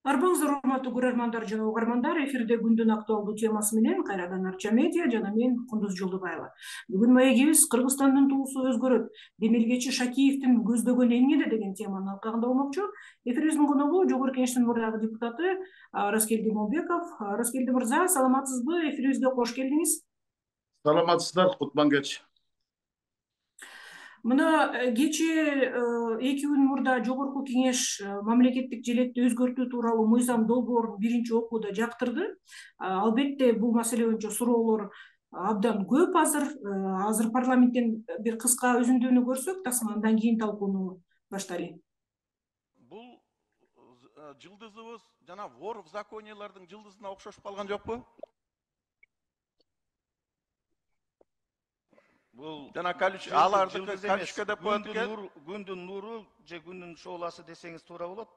Арбаңыздар урматтуу көрөрмандар жана угармандар, эфирде күндүн актуалдуу темасы менен кайрадан Арча медиа жана мен Кундуз Жолдубаева. Бүгүн маегибиз Кыргызстандын туусу өзгөрөт, демилгечи Шакиевдин көздөгөнү эмнеде деген теманын алкагында болмокчу. Эфирибиздин коногу Жогорку Кеңештин мурдагы депутаты Раскелди Молбеков. Раскелди мырза, саламатсызбы? Эфирибизге кош келдиңиз. Саламатсыздар, кутман кеч. Мына кечээ 2 күн мурда Жогорку Кеңеш мамлекеттик желекти өзгөртүү тууралуу мыйзам долбоорун биринчи окууда жактырды. Албетте бул маселе боюнча суроолор абдан көп азыр парламенттен бир кыска үзүндүнү көрсөк, тасма андан кийин талкууну баштайлы. Бул жылдызыбыз жана вор в закониялардын жылдызына окшошуп калган жокпу? Бул жана аларды колючка деп коет экен. Күндүн нуру же күндүн шооласы десеңиз туура болот.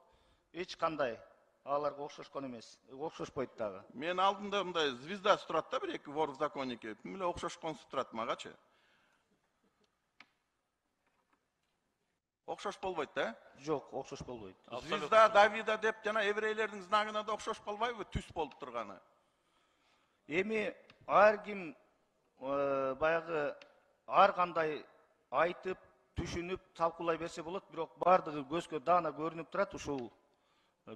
Эч кандай аларга окшошкон эмес. Окшошпойт дагы. Мен алдында мындай звездасы турат да, бир эки вор в законнике. Бүт эле окшошконсу турат магачы. Окшош болбойт да? Жок, окшош болбойт. Звезда Давида деп жана еврейлердин знагына да окшошуп калбайбы түс болуп турганы? Эми ар ким баягы ар кандай айтып, түшүнүп, талкуулай берсе болот, бирок бардыгы көзгө даана көрүнүп турат. Ушул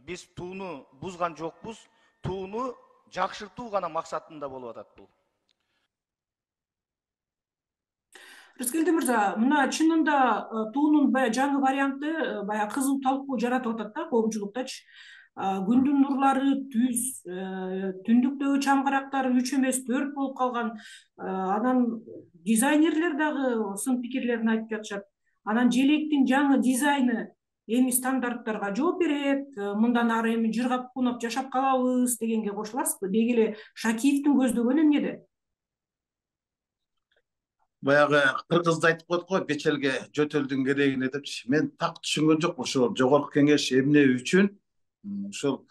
биз тууну бузган жокпуз, тууну жакшыртуу гана максатында болуп атат бул. Раскелди мырза, мына чынында туунун жаңы варианты баягы кызуу талкуу жаратып атат да коомчулуктачы. Күндүн нурлары түз, түндүктөгү чамгарактар 3 эмес 4 болуп калган. Анан дизайнерлер дагы сын пикирлерин айтып жатышат. Анан желектин жаңы дизайны эми стандарттарга жооп берет, мындан ары эми жыргап кунап жашап калабыз дегенге кошуласызбы? Деги эле Шакиевдин көздөгөнү эмнеде? Баягы кыргызда айтып коет го, бечелге жөтөлдүн керегине депчи. Мен так түшүнгөн жокмун ошол Жогорку Кеңеш эмне үчүн ушул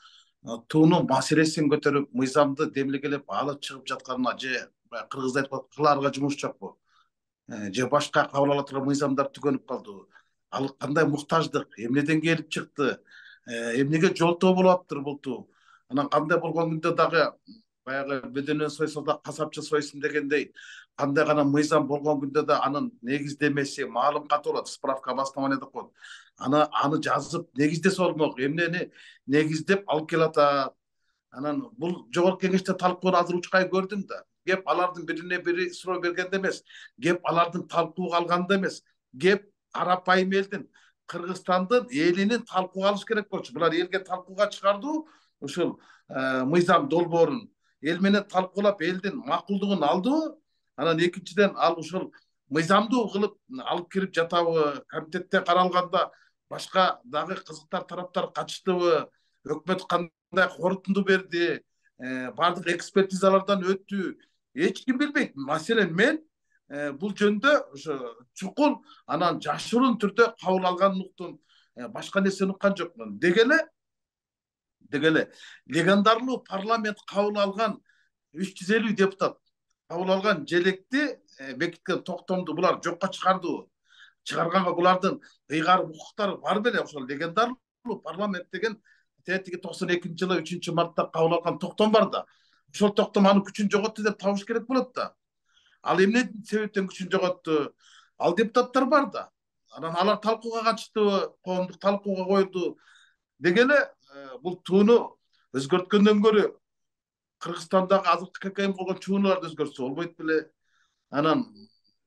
туунун маселесин көтөрүп, мыйзамды демилгелеп алып чыгып жатканына, же кыргызда айтып коет, кылаарга жумуш жокпу? Же башка кабыл ала турган мыйзамдар түгөнүп калдыбы? Ал кандай муктаждык, эмнеден келип чыкты? Эмнеге жолтоо болуп аптыр бул туу? Анан кандай болгон күндө дагы баягы бөдөнөн сойсо да касапчы сойсун дегендей, кандай гана мыйзам болгон күндө да анын негиздемеси, маалым каты болот, справка обоснование деп коет. Аны жазып негиздесе болмок, эмнени негиздеп алып келатат. Анан бул Жогорку Кеңеште талкууну азыр учкай көрдүм да. Кеп алардын бирине бири суроо бергенде эмес, кеп алардын талкууга алганда эмес, кеп арапайым элдин, Кыргызстандын элинин талкууга алыш керек болчу. Булар элге талкууга чыгардуу ушул мыйзам долбоорун эл менен талкуулап элдин макулдугун алдыбы? Анан экинчиден ал ушул мыйзамдуу кылып алып кирип жатабы? Комитетте каралганда башка дагы кызыктар тараптар катыштыбы? Өкмөт кандай корутунду берди? Бардык экспертизалардан өттү? Эч ким билбейт. Маселен мен бул жөнүндө ошо чукул анан жашыруун түрдө кабыл алганын уктум. Башка нерсени уккан жокмун. Деги эле легендарлуу парламент кабыл алган 350 депутат кабыл алган желекти бекиткен токтомду булар жокко чыгардыбы? Чыгарганга булардын ыйгарым укуктары бар беле? Ошол легендарлуу парламент деген тетиги 92-жылы 3-мартта кабыл алган токтом бар да. Ошол токтом анын күчүн жоготту деп табыш керек болот да. Ал эмне себептен күчүн жоготту? Ал депутаттар бар да. Анан алар талкууга катыштыбы? Коомдук талкууга коюлду. Деги эле бул тууну өзгөрткөндөн көрө Кыргызстандагы азыркы ККМ болгон чуунууларды өзгөртсө болбойт беле? Анан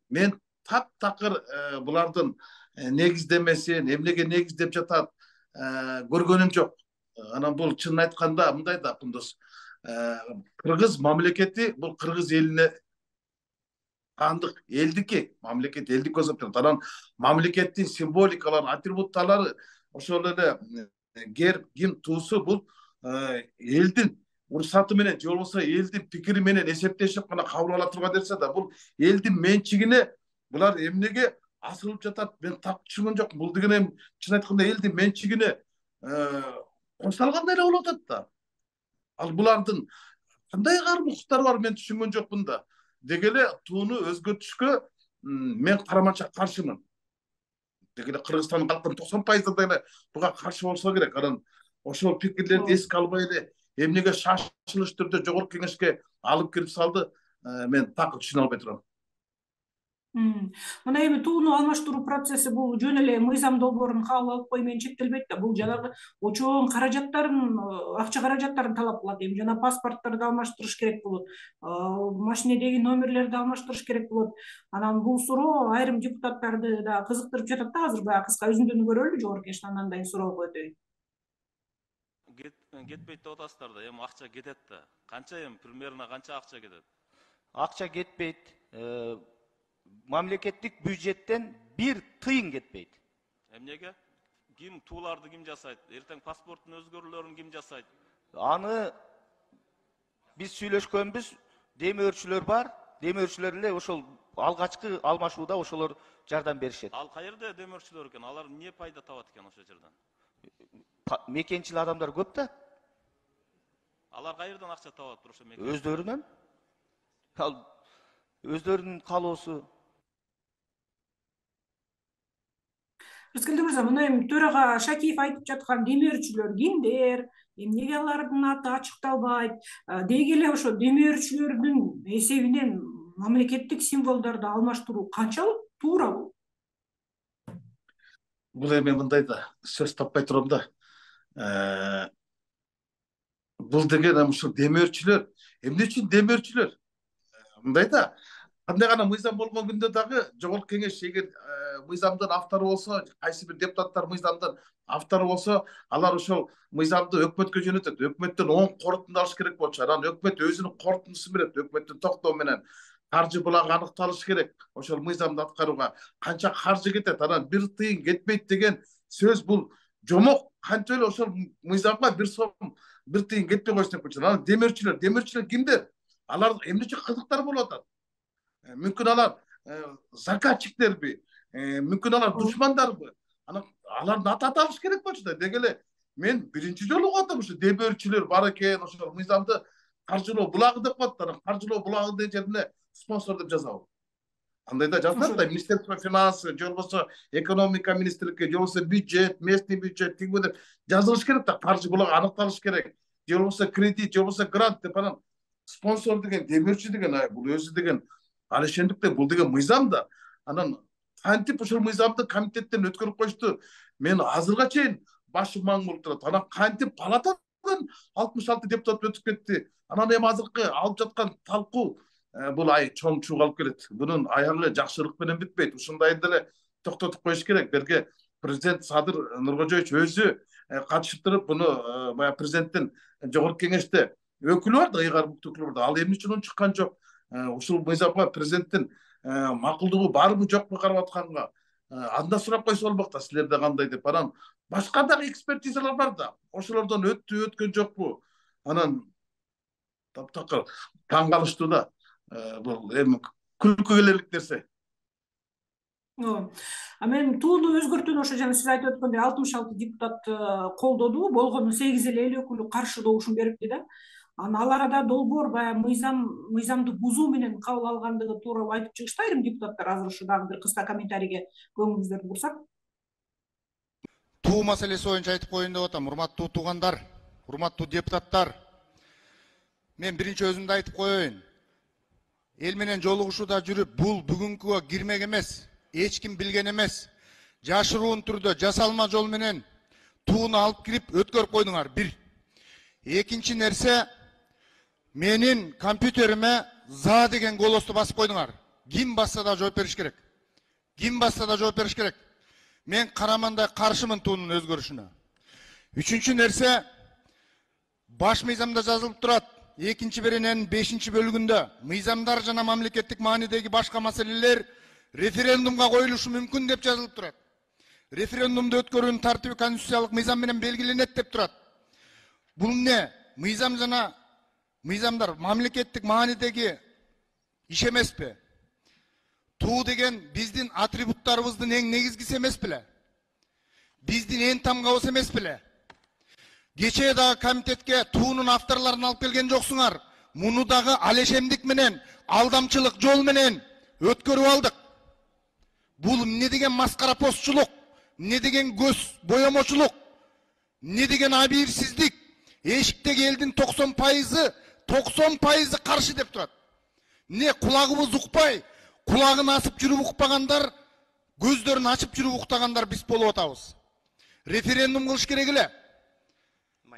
мен таптакыр булардын негиздемесин, эмнеге негиздеп жатат көргөнүм жок. Анан бул чынын айтканда мындай да, Кундуз, кыргыз мамлекети бул кыргыз элине андык элдики, мамлекет элдик көзөп турат. Анан мамлекеттин символикалары, атрибуттары ошол эле герб, гимн, туусу бул элдин уруксаты менен же болбосо элдин пикири менен эсептешип гана кабыл ала турган нерсе да. Бул элдин менчигине булар эмнеге асылып жатат? Мен так түшүнгөн жокмун. Бул деген эми чын айтканда элдин менчигине кошулгандай эле болуп атат да. Ал булардын кандай укуктары бар, мен түшүнгөн жокмун да. Деги эле тууну өзгөртүшкө мен караманча каршымын. Деги эле Кыргызстандын калкынын 90% эле буга каршы болсо керек. Анан ошол пикирлерди эске албай эле эмнеге шашылыш түрдө жогорку кеңешке алып кирип салды, мен так түшүнө албай турам. Мына эми тууну алмаштыруу процесси бул жөн эле мыйзам долбоорунун кабыл алып кою менен чектелбейт да. Бул жанагы чоң каражаттарын, акча каражаттарын талап кылат. Эми жана паспортторду алмаштырыш керек болот, машинедеги номерлерди алмаштырыш керек болот. Анан бул суроо айрым депутаттарды да кызыктырып жатат да. Азыр баягы кыска үзүндүнү көрөлү жогорку кеңештен, андан кийин суроого өтөйүн. Кетпейт деп атасыздар да, эми акча кетет да. Канча эми примерно канча акча кетет? Акча кетпейт. Мамлекеттик бюджеттен 1 тыйын кетпейт. Эмнеге? Ким тууларды ким жасайт? Эртең паспорттун өзгөрүүлөрүн ким жасайт? Аны биз сүйлөшкөнбүз, демөөрчүлөр бар. Демөөрчүлөр эле ошол алгачкы алмашууда ошолор жардам беришет. Ал каерде демөөрчүлөр экен? Алар эмне пайда табат экен ошол жерден? Мекенчил адамдар көп да. Алар каерден акча табат ошо мекен? Өздөрүнөн. Ал өздөрүнүн калоосу. Рыскелди мырза, мына эми төрага Шакиев айтып жаткан демөөрчүлөр кимдер? Эмнеге алардын аты ачыкталбайт? Деги эле ошо демөөрчүлөрдүн эсебинен мамлекеттик символдорду алмаштыруу канчалык туурабы? Бул эми мындай да сөз таппай турам да. Бул деген ушул демөөрчүлөр, эмне үчүн демөөрчүлөр? Мындай да, кандай гана мыйзам болгон күндө дагы жогорку кеңеш эгер мыйзамдын автору болсо, кайсы бир депутаттар мыйзамдын автору болсо, алар ошол мыйзамды өкмөткө жөнөтөт. Өкмөттөн оң корутунду алыш керек болчу. Анан өкмөт өзүнүн корутундусун берет. Өкмөттүн токтоо менен каржы булагы аныкталыш керек. Ошол мыйзамды аткарууга канча каржы кетет, анан 1 тыйын кетпейт деген сөз бул жомок. Кантип эле ошол мыйзамга 1 сом 1 тыйын кетпей койсун деп койчу. Анан демөөрчүлөр кимдер? Алар эмне үчүн кызыктар болуп атат? Мүмкүн алар заказчиктерби? Мүмкүн алар душмандарбы? Анан алардын аты алыш керек болчу да. Деги эле мен биринчи жолу угуп атам, ошо демөөрчүлөр бар экен, ошол мыйзамды каржылоо булагы деп коет. Анан каржылоо булагы деген жерине спонсор деп жазабы? Андайда жазылат да, Министерство финансы, же болбосо экономика министрликке, же болбосо бюджет, местный бюджет тигби деп жазылыш керек да, каржы булагы аныкталыш керек. Же болбосо кредит, же болбосо грант деп. Анан спонсор деген, демөөрчү деген, бул өзү деген ал ошондуктан бул деген мыйзам да. Анан кантип ошол мыйзамды комитеттен өткөрүп коюшту? Мен азырга чейин башым маң болуп турат. Анан кантип палатадан 66 депутат өтүп кетти? Анан эми азыркы алып жаткан талкуу бул чоң чууга алып келет. Бунун аягы жакшылык менен бүтпөйт. Ушундайды эле токтотуп коюш керек. Берге президент Садыр Нуркожоевич өзү катышып туруп, буну баягы президенттин жогорку кеңеште өкүлү бар да, ыйгар буктуу өкүлү бар да. Ал эмне үчүн чыккан жок? Ушул мыйзамга президенттин макулдугу барбы жокпу карап атканга анда сурап койсо болмок да, силерде кандай деп. Анан башка дагы экспертизалар бар да. Ошолордон өткөн жокпу? Анан таптакыр таң калыштуу да. Бул эми күлкү келерлик нерсе. Мен тууну өзгөртүүнү ошо жана сиз айтып өткөндөй 66 депутат колдоду, болгону 8 эл өкүлү каршы добушун берипти да. Ал арада долбоор баягы мыйзамды бузуу менен кабыл алгандыгы тууралуу айтып чыгышты айрым депутаттар. Азыр ушу дагы бир кыска комментарийге көңүлүңүздөрдү бурсак. Туу маселеси боюнча айтып коеюн деп атам. Урматтуу туугандар, урматтуу депутаттар. Мен биринчи өзүмдү айтып коеюн. Эл менен жолугушууда жүрүп, бул бүгүнкүгө кирмек эмес, эч ким билген эмес. Жашыруун түрдө жасалма жол менен тууну алып кирип өткөрүп койдуңар. Бир. Экинчи нерсе, менин компьютериме за деген голосту басып койдуңар. Ким басса да жооп бериш керек. Ким басса да жооп бериш керек. Мен карамандай каршымын туунун өзгөрүшүнө. Үчүнчү нерсе, баш мыйзамда жазылып турат. Экинчи берененин 5-чи бөлүгүндө мыйзамдар жана мамлекеттик маанидеги башка маселелер референдумга коюлушу мүмкүн деп жазылып турат. Референдумду өткөрүүнүн тартиби конституциялык мыйзам менен белгиленет деп турат. Бул эмне? Мыйзам жана мыйзамдар мамлекеттик маанидеги иш эмеспи? Туу деген биздин атрибуттарыбыздын эң негизгиси эмес беле? Биздин эң тамгабыз эмес беле? Кечээ дагы комитетке туунун авторлорун алып келген жоксуңар. Муну дагы алешемдик менен, алдамчылык жол менен өткөрүп алдык. Бул эмне деген маскара постчулук, эмне деген көз боемочулук? Не деген абийирсиздик. Эшиктеги элдин 90% каршы деп турат. Не кулагыбыз укпай, кулагын асып жүрүп укпагандар, көздөрүн ачып жүрүп уктагандар биз болуп атабыз. Референдум кылыш керек эле.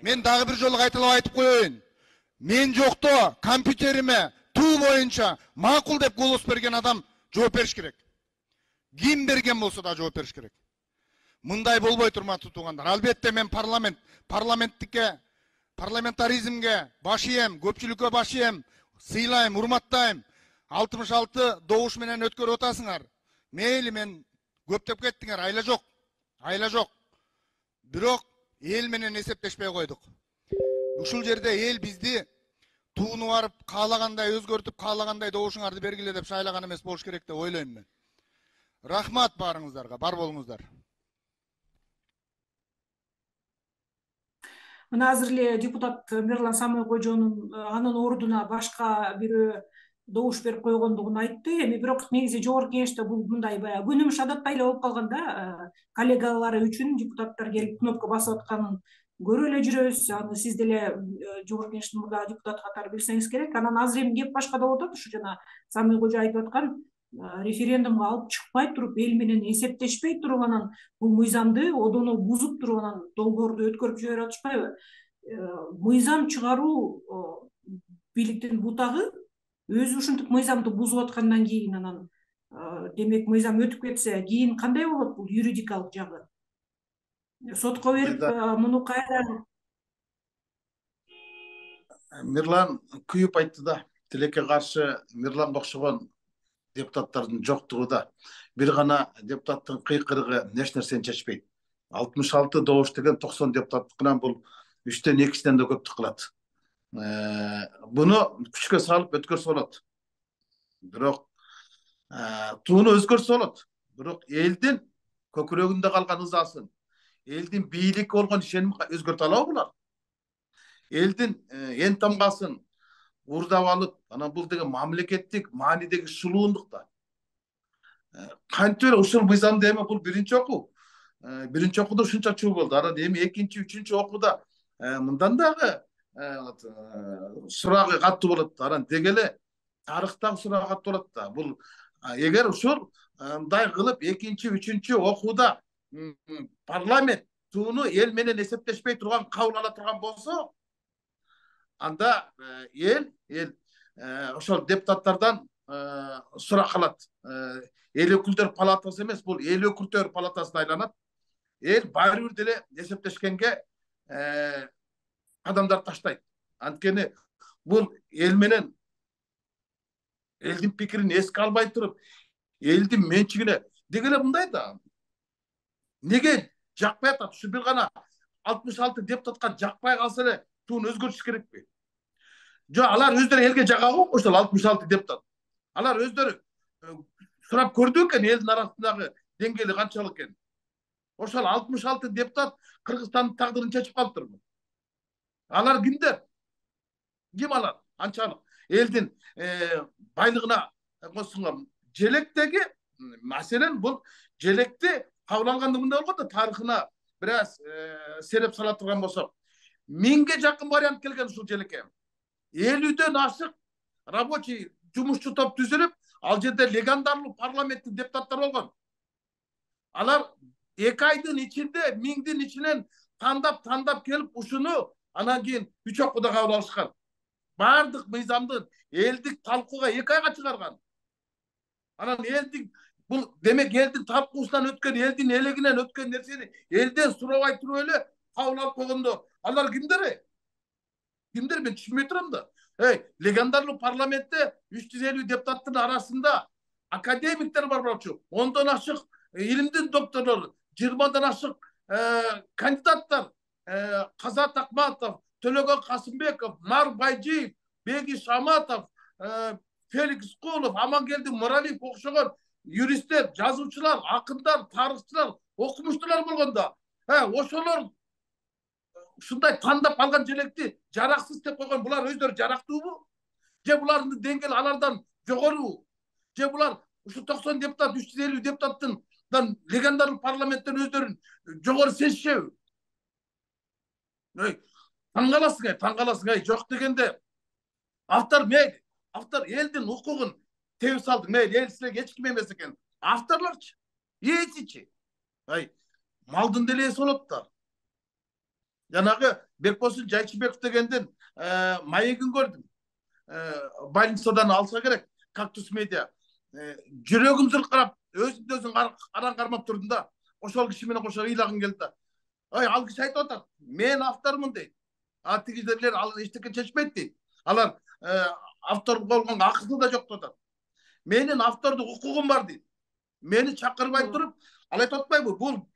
Мен дагы бир жолу кайталап айтып коеюн. Мен жокто компьютериме туу боюнча макул деп голос берген адам жооп бериш керек. Ким берген болсо да жооп бериш керек. Мындай болбойт, урматтуу туугандар. Албетте мен парламентаризмге баш ийем, көпчүлүккө баш ийем, сыйлайм, урматтайм. 66 добуш менен өткөрүп атасыңар. Мейли, мен көптөп кеттиңер, айла жок. Бирок эл менен эсептешпей койдук. Ушул жерде эл бизди тууну барып каалагандай өзгөртүп, каалагандай добушуңарды бергиле деп шайлаган эмес болуш керек деп ойлойм мен. Рахмат баарыңыздарга, бар болуңуздар. Мына азыр эле депутат Мирлан Самойкожонун анын ордуна башка бирөө добуш берип койгондугун айтты. Эми бирок негизи жогорку кеңеште бул мындай баягы күнүмүш адаттай эле болуп калган да. Коллегалары үчүн депутаттар келип кнопка басып атканын көрүп эле жүрөбүз. Аны сиз деле жогорку кеңештин мурдагы депутаты катары билсеңиз керек. Анан азыр эми кеп башкада болуп атат. Ушу жана Самойкожо айтып аткан референдумга алып чыкпай туруп, эл менен эсептешпей туруп, анан бул мыйзамды одоно бузуп туруп, анан долбоорду өткөрүп жиберип атышпайбы? Мыйзам чыгаруу бийликтин бутагы. Өзү ушинтип мыйзамды бузуп аткандан кийин анан демек мыйзам өтүп кетсе, кийин кандай болот бул юридикалык жагы? Сотко берип муну кайра. Мирлан күйүп айтты да. Тилекке каршы Мирланга окшогон депутаттардын жоктугу да. Бир гана депутаттын кыйкырыгы эч нерсени чечпейт. 66 добуш деген 90 депутаттыкынан бул 3төн 2синен да көптүк кылат. Буну күчкө салып өткөрсө болот. Бирок тууну өзгөрсө болот. Бирок элдин көкүрөгүндө калган ызасын, элдин бийликке болгон ишенимин өзгөртө алабы булар? Элдин эн тамгасын урдап алып, анан бул деген мамлекеттик маанидеги шулуундук да. Кантип эле ушул мыйзамды эми бул биринчи окууда ушунча чуу болду. Анан эми экинчи, үчүнчү окууда мындан дагы сурагы катуу болот. Анан деги эле тарыхтагы сурагы катуу болот да. Бул эгер ушул мындай кылып экинчи, үчүнчү окууда парламент тууну эл менен эсептешпей турган кабыл ала турган болсо, анда эл ошол депутаттардан сурак калат. Эл өкүлдөр палатасы эмес, бул эл өкүлдөр палатасына айланат. Эл баары бир деле эсептешкенге адамдар таштайт. Анткени бул эл менен элдин пикирин эске албай туруп, элдин менчигине деги эле мындай да. Неге жакпай атат? Ушу бир гана 66 депутатка жакпай калса эле тууну өзгөртүш керекпи? Жок, алар өздөрү элге жагабы ошол 66 депутат. Алар өздөрү сурап көрдү экен элдин арасындагы деңгээли канчалык экенин. Ошол 66 депутат Кыргызстандын тагдырын чечип калыптырбы? Алар кимдер? Ким алар? Анчалык элдин байлыгына косунган желектеги маселен бул желекти кабыл алганда мындай болгон да, тарыхына бир аз сереп сала турган болсок, 1000ге жакын вариант келген ушул желекке. 50дөн ашык рабочий жумушчу топ түзүлүп, ал жерде легендарлуу парламенттин депутаттары болгон. Алар 2 айдын ичинде 1000дин ичинен тандап келип ушуну анан кийин 3 окууда кабыл алышкан. Бардык мыйзамдын элдик талкууга 2 айга чыгарган. Анан элдик бул демек элдин талкуусунан өткөн, элдин элегинен өткөн нерсени элден сурабай туруп эле кабыл алып койгондо алар кимдер? Кимдер, мен түшүнбөй турам да. Легендарлуу парламентте 350 депутаттын арасында академиктер бар болчу. 10дон ашык илимдин докторлору, 20дан ашык кандидаттар, Казат Акматов, Төлөгөн Касымбеков, Мар Байжиев, Бегиш Аматов, Феликс Кулов, Амангелди Муралиев окшогон юристтер, жазуучулар, акындар, тарыхчылар, окумуштуулар болгондо, ошолор ушундай тандап алган желекти жараксыз деп койгон. Булар өздөрү жарактуубу? Же булардын деңгээли алардан жогорубу? Же булар ушу 90 депутат, 350 депутаттын легендарлуу парламенттен өздөрүн жогору сезишеби? Таң каласың, жок дегенде автор мейли, автор элдин укугун тебип салды, мейли, эл силерге эч ким эмес экен. Авторлорчу, ээсичи. Малдын деле ээси болот да. Жанагы Бекбосун Жайчыбеков дегендин маегин көрдүм. Больницадан алса керек, Кактус медиа. Жүрөгүм зыркырап, өзүн аран кармап турдум да. Ошол киши менен кошо ыйлагым келди да. Ал киши айтып атат, мен автормун дейт. Тигилер ал эчтеке чечпейт дейт. Алар автор болгонго акысы да жок деп атат. Менин автордук укугум бар дейт. Мени чакырбай туруп, ал айтып атпайбы? Бул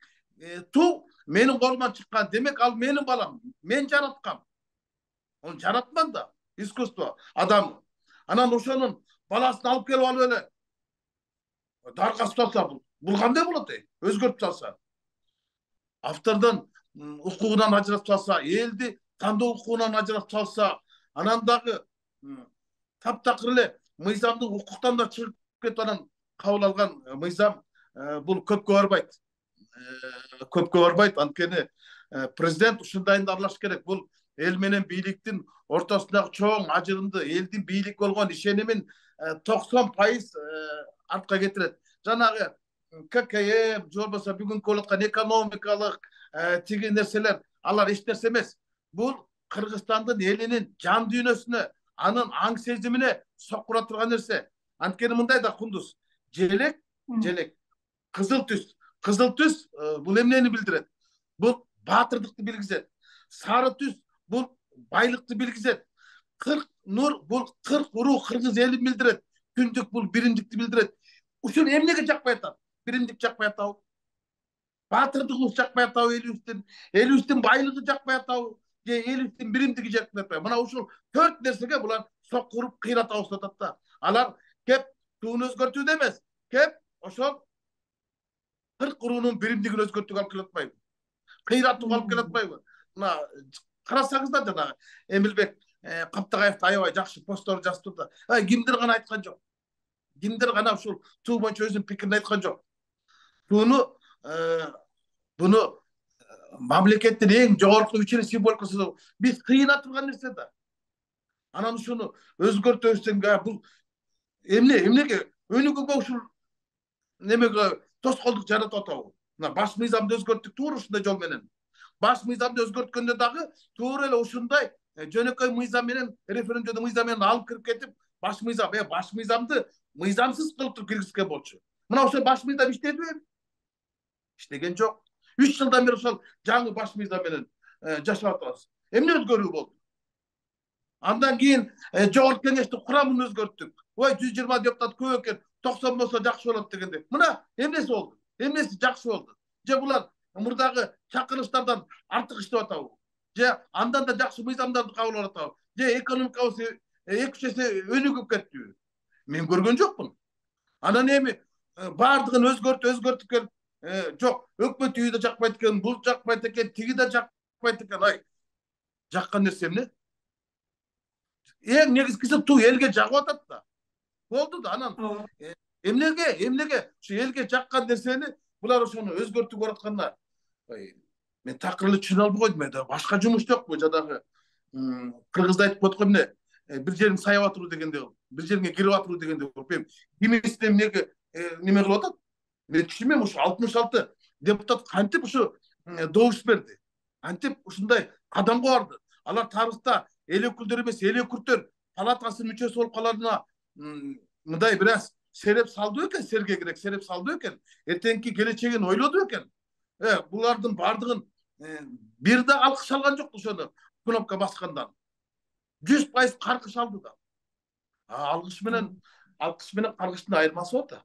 туу менин колуман чыккан. Демек ал менин балам. Мен жараткам. Ол жаратман да. Искусство адам. Анан ошонун баласын алып келип алып эле дарга салса, бул кандай болот? Өзгөртүп салса. Автордун укугунан ажыратып салса, элди тандоо укугунан ажыратып салса, анан дагы таптакыр эле мыйзамдык укуктан да чыгып кетип анан кабыл алган мыйзам бул көпкө барбайт. Анткени президент ушундайын аралаш керек. Бул эл менен бийликтин ортосундагы чоң ажырымды, элдин бийлик болгон ишенимин 90% артка кетирет. Жанагы ККМ, же болбосо бүгүнкү болуп аткан экономикалык тиги нерселер, алар эч нерсе эмес. Бул Кыргызстандын элинин жан дүйнөсүнө, анын аң сезимине сокура турган нерсе. Анткени мындай да кундуз. Желек, кызыл түс бул эмнени билдирет? Бул баатырдыкты билгизет. Сары түс бул байлыкты билгизет. 40 нур бул 40 уруу кыргыз элин билдирет. Күндүк бул биримдикти билдирет. Ушул эмнеге жакпай атат? Биримдик жакпай атабы? Баатырдыгыбыз жакпай атабы элибиздин байлыгы жакпай атабы? Же элибиздин биримдиги жакпай атпайбы? Мына ушул 4 нерсеге булар сокуруп кыйратып атат да. Алар кеп тууну өзгөртүүдө эмес, кеп ошол 40 уруунун биримдигин өзгөртүүгө алып келип атпайбы? Кыйратууга алып келип атпайбы? Мына карасаңыздар жана Эмилбек Каптагаев аябай жакшы посттор жазып турду. Кимдир гана айткан жок. Кимдир гана ушул туу боюнча өзүнүн пикирин айткан жок. Буну мамлекеттин эң жогорку күчүнүн символикасы биз кыйына турган нерсе да. Анан ушуну өзгөртөбүз, бул эмнеге өнүгүүгө ушул немеге тоскоолдук жаратып атабы? Мына баш мыйзамды өзгөрттүк туура ушундай жол менен. Баш мыйзамды өзгөрткөндө дагы туура эле ушундай жөнөкөй мыйзам менен, референдумдуу мыйзам менен алып кирип кетип, баш мыйзамды мыйзамсыз кылып туруп киргизген болчу. Мына ошол баш мыйзам иштедиби? Иштеген жок. 3 жылдан бери ошол жаңы баш мыйзам менен жашап атабыз. Эмне өзгөрүү болду? Андан кийин жогорку кеңештин курамын өзгөрттүк. 120 депутат көп экен, 90 болсо жакшы болот дегенде. Мына эмнеси болду? Эмнеси жакшы болду? Же булар мурдагы чакырыштардан артык иштеп атабы? Же андан да жакшы мыйзамдарды кабыл алып атабы? Же экономикабыз 2 эсе өнүгүп кеттиби? Мен көргөн жокмун. Анан эми баардыгын өзгөртүп келип, жок, өкмөт үйү да жакпайт экен, бул жакпайт экен, тиги да жакпайт экен. Жаккан нерсе эмне? Эң негизгиси туу элге жагып атат да. Болду да, анан эмнеге ушу элге жаккан нерсени булар ошону өзгөртүп баратканына мен такыр эле түшүнө албай койдум. Башка жумуш жокпу? Жадагы кыргызда айтып коет го эмне? Бир жериң сайып атыруу дегенде, бир жериңе кирип атыруу дегенде, кимисине эмнеге неме кылып атат? Мен түшүнбөйм. Ушу 66 депутат кантип ушу добуш берди? Кантип ушундай кадамга барды? Алар тарыхта эл өкүлдөрү эмес, эл өкүлдөр палатасынын мүчөсү болуп каларына мындай бир аз сереп салды экен, сергегирээк сереп салды экен. Эртеңки келечегин ойлоду экен. Булардын бардыгын бир да алкыш алган жок ошону кнопка баскандан. 100% каркыш алды да. Алкыш менен каркыштын айырмасы бар да.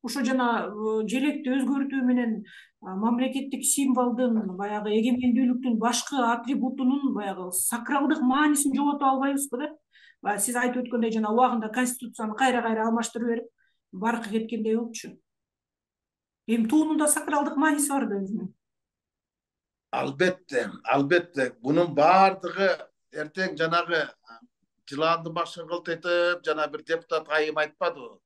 Ошо жана желекти өзгөртүү менен мамлекеттик символдун, баягы эгемендүүлүктүн башкы атрибутунун баягы сакралдык маанисин жоготуп албайбызбы да? Сиз айтып өткөндөй жана убагында конституцияны кайра алмаштырып берип, баркы кеткендей болчу. Эми туунун да сакралдык мааниси бар да өзүнүн. Албетте. Бунун баардыгы эртең жанагы жыландын башын кылтайтып, жана бир депутат айым айтпадыбы?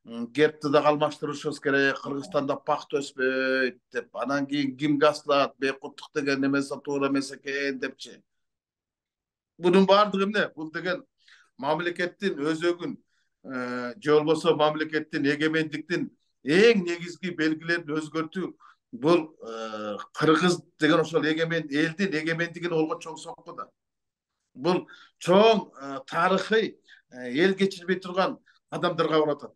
гербти дагы алмаштырышыбыз керек, Кыргызстанда пахта өспөйт деп, анан кийин ким касылат, Бейкуттук деген немеси туура эмес экен депчи. Bunun баардыгы эмне? Бул деген мамлекеттин өзөгүн же болбосо мамлекеттин эгемендиктин эң негизги белгилерин өзгөртүү. Бул Кыргыз деген ошол элдин эгемендигине болгон чоң сокку да. Бул чоң тарыхый эл кечирбей турган адамдарга баратат.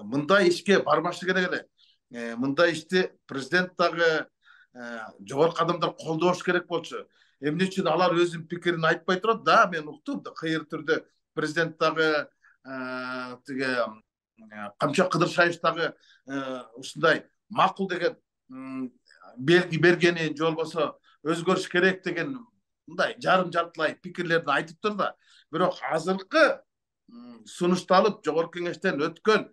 Мындай ишке барбашы керек эле. Мындай ишти президент дагы жогорку адамдар колдош керек болчу. Эмне үчүн алар өзүнүн пикирин айтпай турат? Да, мен уктум да, кыйыр түрдө президент дагы тиге Камчак Кыдыршаев дагы ушундай макул деген белги бергенин, же болбосо өзгөрүш керек деген мындай жарым жартылай пикирлерин айтыптыр да. Бирок азыркы сунушталып жогорку кеңештен өткөн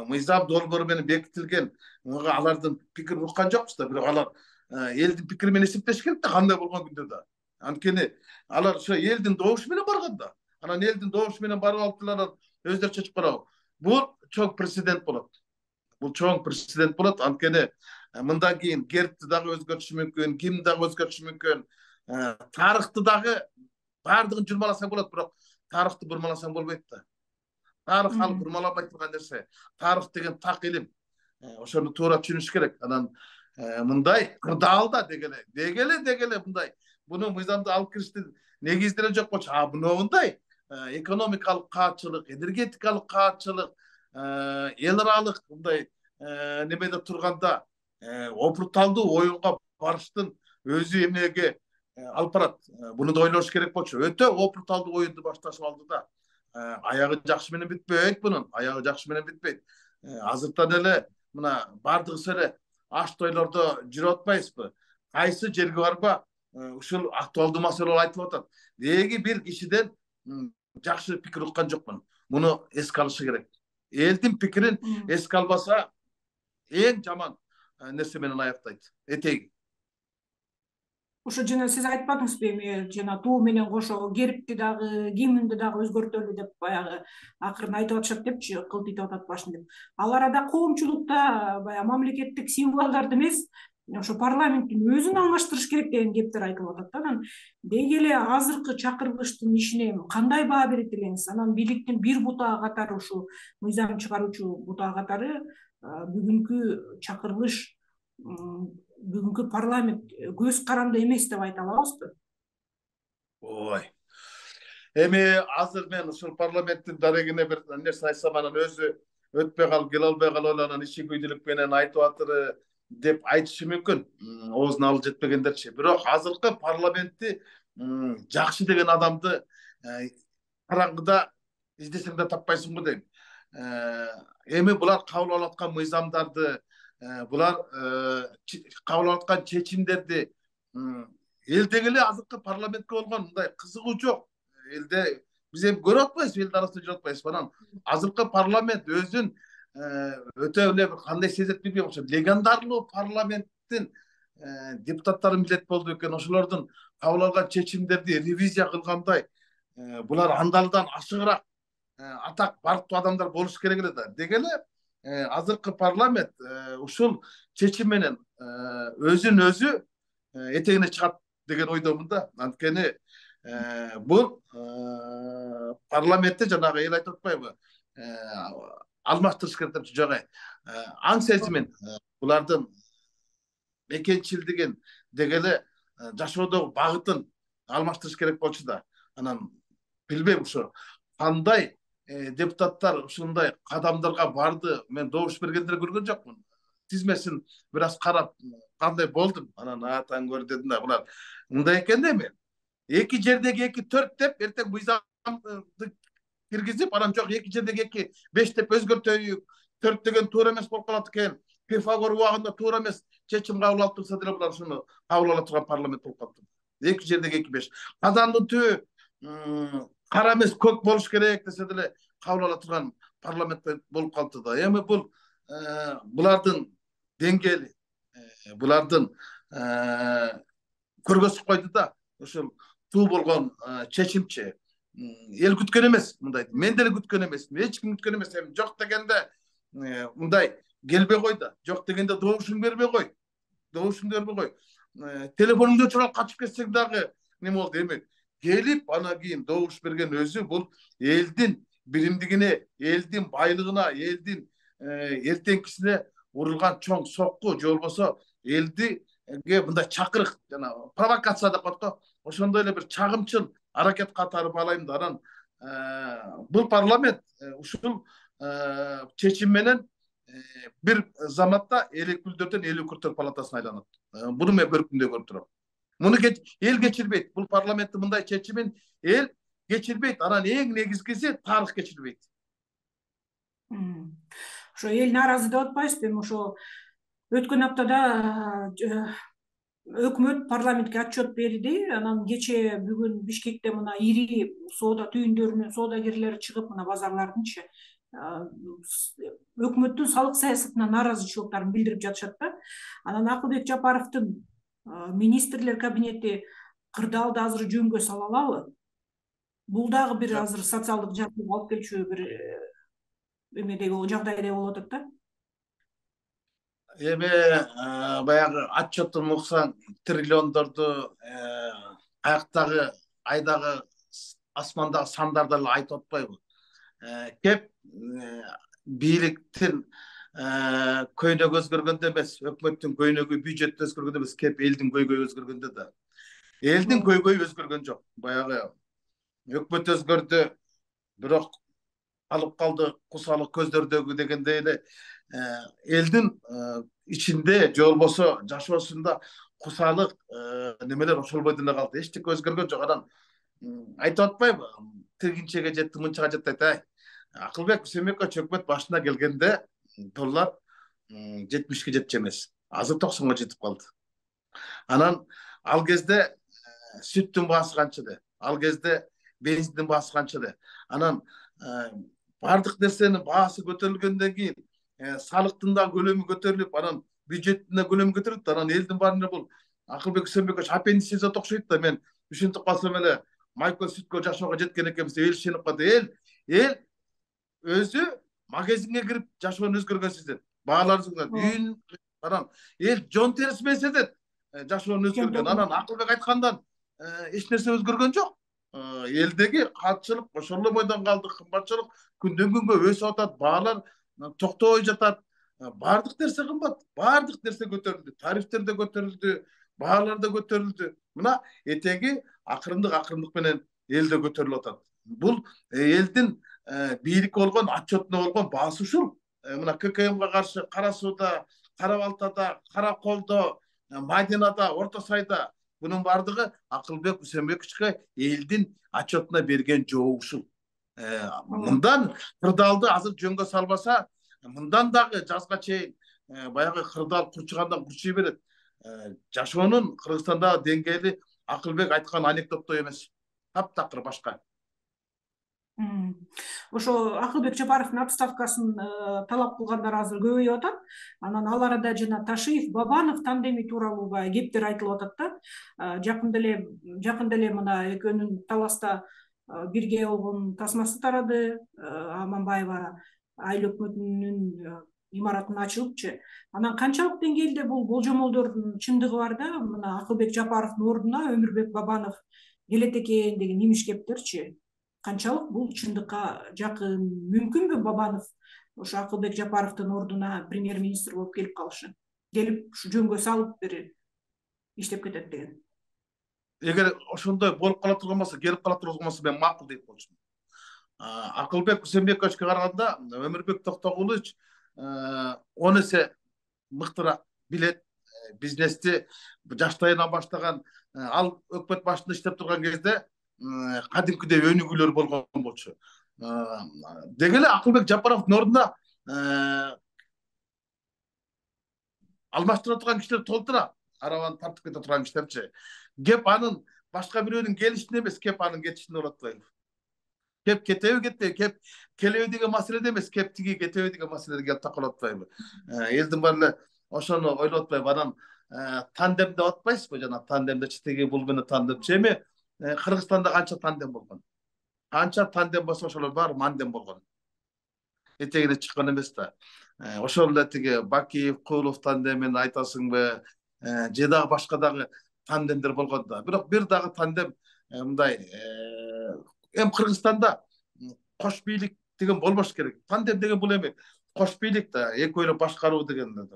мыйзам долбоору менен бекитилген алардын пикирин уккан жокпуз да. Бирок алар элдин пикири менен эсептеш керек да, кандай болгон күндө да. Анткени алар ошо элдин добушу менен барган да. Анан элдин добушу менен барып алыптылар, өздөрү чечип карабы. Бул чоң прецедент болот. Бул чоң прецедент болот. Анткени мындан кийин гербти дагы өзгөртүшү мүмкүн, ким дагы өзгөртүшү мүмкүн. Тарыхты дагы баардыгын журмаласаң болот, бирок тарыхты бурмаласаң болбойт да. Тарых ал бурмаланбай турган нерсе. Тарых деген так илим. Ошону туура түшүнүш керек. Анан мындай кырдаалда дегеле мындай буну мыйзамды алып кириштин негиздери жок болчу. Мындай экономикалык каатчылык, энергетикалык каатчылык, эл аралык мындай немеде турганда опурталдуу оюнга барыштын өзү эмнеге алып барат. Буну да ойлош керек болчу. Өтө опурталдуу оюнду башташып алды да. Аягы жакшы менен бүтпөйт бунун. Аягы жакшы менен бүтпөйт. Азыртан эле мына баардыгыбыз эле аш тойлордо жүрүп атпайбызбы? Кайсы жерге барба ушул актуалдуу маселелер айтылып атат. Деги бир кишиден жакшы пикир уккан жокмун. Муну эске алышы керек. Элдин пикирин эске албаса эң жаман нерсе менен аяктайт. Этеги. Ошо жана сиз айтпадыңызбы эми жана туу менен кошо гербти дагы, гимнди дагы өзгөртөлү деп баягы акырын айтып атышат депчи, кылтыйтып атат башын деп. Ал арада коомчулукта баягы мамлекеттик символдорду эмес, ошо парламенттин өзүн алмаштырыш керек деген кептер айтылып атат да. Анан деги эле азыркы чакырылыштын ишине кандай баа берет элеңиз? Анан бийликтин бир бутагы катары, ушул мыйзам чыгаруучу бутагы катары бүгүнкү чакырылыш, бүгүнкү парламент көз каранды эмес деп айта алабызбы? Ой. Эми азыр мен ушул парламенттин дарегине бир нерсе айтсам, анан өзү өтпөй калып, келе албай калып, анан иши күйдүлүк менен айтып атыр деп айтышы мүмкүн. Оозуна алы жетпегендерчи. Бирок азыркы парламентти жакшы деген адамды караңгыда издесең да таппайсың го дейм. Эми булар кабыл алып аткан мыйзамдарды, булар кабыл алып аткан чечимдерди элдеги эле азыркы парламентке болгон мындай кызыгуу жок. Элде биз эми көрүп атпайбызбы, эл арасында жүрүп атпайбызбы? Анан азыркы парламент өзүн өтө эле кандай сезет билбейм, ошо легендарлуу парламенттин депутаттарын билет болду экен. Ошолордун кабыл алган чечимдерди ревизия кылгандай булар андалдан ашыгыраак атак барктуу адамдар болуш керек эле да. Деги эле азыркы парламент ушул чечим менен өзүн өзү этегине чыгат деген ойдомун да. Анткени бул парламентте жанагы эл айтып атпайбы, алмаштырыш керек деп жок. Аң сезимин, булардын мекенчилдигин, деги эле жашоодогу багытын алмаштырыш керек болчу да. Анан билбейм ошо кандай депутаттар ушундай кадамдарга барды. Мен добуш бергендерди көргөн жокмун. Тизмесин бир аз карап кандай болдум. Анан таң көр дедим да, булар мындай экен да эми. Эки жердеги 2-4 деп эртең мыйзамды киргизип, анан жок 2 жердеги 2-5 деп өзгөртөйүк. 4 деген туура эмес болуп калат экен. Пифагор убагында туура эмес чечим кабыл алып турса деле булар ушуну кабыл ала турган парламент болуп калыптыр. 2 жердеги 2-5. Казандын түбү кара эмес көк болуш керек десе деле кабыл ала турган парламент болуп калды да. Эми бул булардын деңгээли, булардын көргөзүп койду да. Ошол туу болгон чечимчи эл күткөн эмес мындайды. Мен деле күткөн эмесмин, эч ким күткөн эмес. Эми жок дегенде мындай келбей кой да, жок дегенде добушуң бербей кой. Телефонуңду чыгарып качып кетсең дагы неме болду. Эми келип анан кийин добуш берген өзү бул элдин биримдигине, элдин байлыгына, элдин эртеңкисине урулган чоң сокку, же болбосо элдиге мындай чакырык, жана провокация деп коет го. Ошондой эле бир чагымчыл аракет катары баалайм да. Анан бул парламент ушул чечим менен бир заматта эл өкүлдөрдөн эл өкүлдөр палатасына айланат. Буну мен бір күндө көрүп турам. Муну эл кечирбейт. Бул парламенттин мындай чечимин эл кечирбейт. Анан эң негизгиси тарых кечирбейт. Ошо эл нааразы деп атпайсызбы? Эми ошо өткөн аптада өкмөт парламентке отчет берди. Анан кече бүгүн Бишкекте мына ири соода түйүндөрүнүн соодагерлери чыгып, мына базарлардынчы өкмөттүн салык саясатына нааразычылыктарын билдирип жатышат да. Анан Акылбек Жапаровдун министрлер кабинети кырдаалды азыр жөнгө сала алабы? Бул дагы бир азыр социалдык жардам алып келчү бир эмедеги жагдайдай болуп атат да. Эми баягы отчеттун уксаң триллиондорду аяктагы айдагы асмандагы сандарды эле айтып атпайбы? Кеп бийликтин көйнөгү өзгөргөндө эмес, өкмөттүн көйнөгү, бюджет өзгөргөндө эмес, кеп элдин көйгөйү өзгөргөндө да. Элдин көйгөйү өзгөргөн жок. Баягы өкмөт өзгөрдү, бирок алып калды кусалык көздөрдөгү дегендей эле элдин ичинде же болбосо жашоосунда кусалык немелер ошолбой деле калды. Эчтеке өзгөргөн жок. Анан айтып атпайбы? Тигинчеге жетти, мынчага жетти айтайын. Акылбек Үсөнбекович өкмөт башына келгенде доллар 70-ке жетчү эмес. Азыр 90-га жетип калды. Анан ал кезде сүттүн баасы канча эле? Ал кезде бензиндин баасы канча эле? Анан бардык нерсенин баасы көтөрүлгөндөн кийин салыктын да көлөмү көтөрүлүп, анан бюджеттин да көлөмү көтөрүлүп, анан элдин баарына бул Акылбек Үсөнбекович аппендицит окшойт да. Мен ушинтип калсам эле майкөл сүткө жашоого жеткен экенбиз, эл ишенип калды. Эл өзү магазинге кирип жашоону өзгөргөн сезет. Бааларыңызга үй, анан эл жон терisi менен сезет жашоону өзгөргөн. Анан Акылбек айткандан эч нерсе өзгөргөн жок. Элдеги катчылык ошол эле бойдон калды. Кымбатчылык күндөн күнгө өсүп атат, баалар токтобой жатат. Бардык нерсе кымбат, бардык нерсе көтөрүлдү. Тарифтер да көтөрүлдү, баалар да көтөрүлдү. Мына этеги акырындык менен элде көтөрүлүп атат. Бул элдин бийликке болгон отчетуна болгон баасы ушул. Мына ККМга каршы Кара Сууда, Кара Балтада, Кара Колдо, Мадинада, Орто Сайда бунун бардыгы Акылбек Үсөнбековичке элдин отчетуна берген жооп ушул. Мындан кырдаалды азыр жөнгө салбаса, мындан дагы жазга чейин баягы кырдаал курчугандан курчуй берет. Жашоонун Кыргызстандагы деңгээли Акылбек айткан анекдоттой эмес. Таптакыр башка. Ошо Акылбек Жапаровдун отставкасын талап кылгандар азыр көбөйүп атат. Анан ал арада жана Ташиев, Бабанов тандеми тууралуу баягы кептер айтылып атат да. Жакында эле мына экөөнүн таласта бирге болгон тасмасы тарады. Аманбаева айыл өкмөтүнүн имаратын ачылыпчы. Анан канчалык деңгээлде бул болжомолдордун чындыгы бар да? Мына Акылбек Жапаровдун ордуна Өмүрбек Бабанов келет экен деген имиш кептерчи. Канчалык бул чындыкка жакын? Мүмкүнбү Бабанов ошо Акылбек Жапаровдун ордуна премьер-министр болуп келип калышы? Келип ушу жөнгө салып бир иштеп кетет деген. Эгер ошондой болуп кала турган болсо, келип кала турган болсо мен макул дейт болчумун. Акылбек Үсөнбековичке караганда Өмүрбек Токтогулович 10 эсе мыктыраак билет, бизнести жаштайынан баштаган. Ал өкмөт башында иштеп турган кезде кадимкидей өнүгүүлөр болгон болчу. Деги эле Акылбек Жапаровдун ордуна алмаштыра турган кишилер толтура. Арабаны тартып кете турган кишилерчи. Кеп анын башка бирөөнүн келишине эмес, кеп анын кетишине болот атпайбы? Кеп кетеби, кеп келеби деген маселеде эмес, кеп тиги кетеби деген маселеде келип такалып атпайбы? Элдин баары эле ошону ойлоп атпайбы? Анан тандем деп атпайсызбы? Жана тандемде читеги бул менен тандемчи. Эми Кыргызстанда канча тандем болгон? Канча тандем болсо ошолор баары мандем болгон. этегине чыккан эмес да. Ошол эле тиги Бакиев, Куулов тандемин айтасыңбы, же дагы башка дагы тандемдер болгон да. Бирок бир дагы тандем мындай эми Кыргызстанда кош бийлик деген болбош керек. Тандем деген бул эми кош бийлик да, экөөнү башкаруу деген.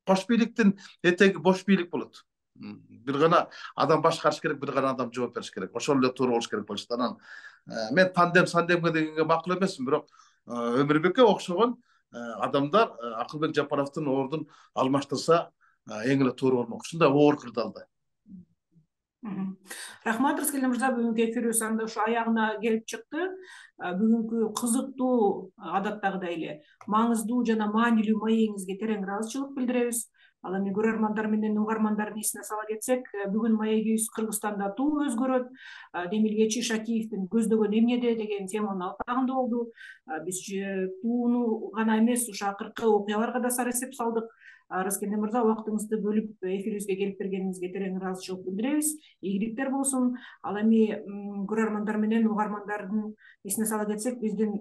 Кош бийликтин этеги бош бийлик болот. Бир гана адам башкарыш керек, бир гана адам жооп бериш керек. Ошол эле туура болуш керек болчу. Анан мен сандемге дегенге макул эмесмин, бирок Өмүрбекке окшогон адамдар Акылбек Жапаровдун ордун алмаштырса эң эле туура болмок. Ушундай оор кырдаалда. Рахмат, Рыскелди мырза, бүгүнкү эфирибиз анда ушу аягына келип чыкты. Бүгүнкү кызыктуу, адаттагыдай эле маңыздуу жана маанилүү маегиңизге терең ыраазычылык билдиребиз. Ал эми көрөрмандар менен угармандардын эсине сала кетсек, бүгүн маегибиз Кыргызстанда туу өзгөрөт, Демилгечи Шакиевдин көздөгөн эмнеде деген теманын алкагында болду. Биз тууну гана эмес, ушу акыркы окуяларга да сар эсеп салдык. Рыскелди мырза, убактыңызды бөлүп эфирибизге келип бергениңизге терең ыраазычылык билдиребиз. Ийгиликтер болсун. Ал эми көрөрмандар менен угармандардын эсине сала кетсек, биздин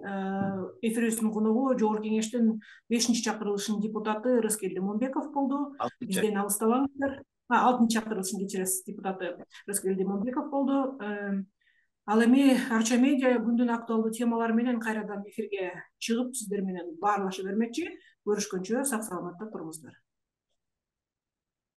эфирибиздин коногу Жогорку Кеңештин 5-чакырылышынын депутаты Рыскелди Момбеков болду. Бизден алыстабаңыздар. 6-чакырылышынын кечиресиз депутаты Рыскелди Момбеков болду. Ал эми Арча медиа күндүн актуалдуу темалары менен кайрадан эфирге чыгып, сиздер менен баарлаша бермекчи. Көрүшкөнчө сак саламатта туруңуздар.